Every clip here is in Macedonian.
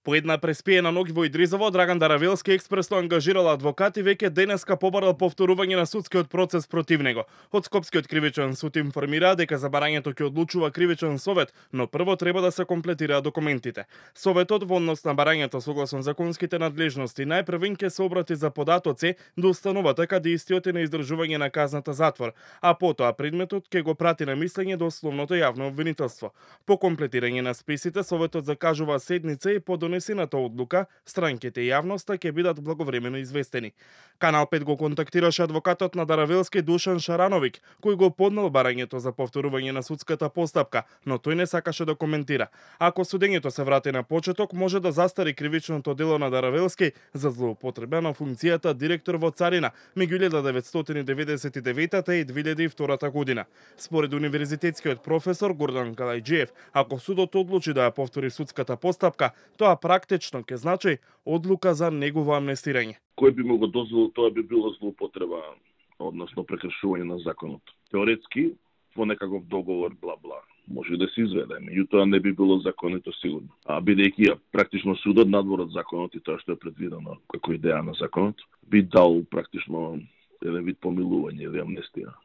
По една преспиена ноќ во Идризово, Драган Даравелски експресно ангажирал адвокат и веќе денеска побарал повторување на судскиот процес против него. Од Скопскиот кривичен суд информира дека за барањето ќе одлучува кривичен совет, но прво треба да се комплетираат документите. Советот во однос на барањето согласно законските надлежности најпрвен ќе се обрати за податоци до установата каде истиот е на издржување на казната затвор, а потоа предметот ќе го прати на мислење до условното јавно обвинителство. По комплетирање на списите, советот закажува седница и по донесената одлука, странките и јавноста ќе бидат благовремено известени. Канал 5 го контактираше адвокатот на Даравелски Душан Шарановик, кој го поднел барањето за повторување на судската постапка, но тој не сакаше да коментира. Ако судењето се врати на почеток, може да застари кривичното дело на Даравелски за злоупотреба на функцијата директор во Царина меѓу 1999 и 2002 година. Според универзитетскиот професор Гордан Калајџиев, ако судот одлучи да ја повтори судската постапка, тоа практично ќе значи одлука за негово амнестирање. Кој би му го дозволил, тоа би било злоупотреба, односно прекршување на законот. Теоретски, во некаков договор, бла-бла, може да се изведе, меѓутоа не би било законито сигурно. А бидејќи практично судот надвор од законот и тоа што е предвидено како идеја на законот, би дал практично еден вид помилување или амнестија.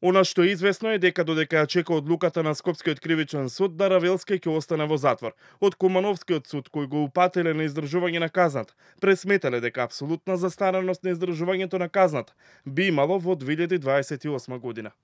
Она што е известно е дека додека ја чека одлуката на Скопскиот кривичен суд, Даравелски ќе остане во затвор. Од Кумановскиот суд, кој го упателе на издржување на казната, пресметале дека апсолутна застареност на издржувањето на казната би имало во 2028 година.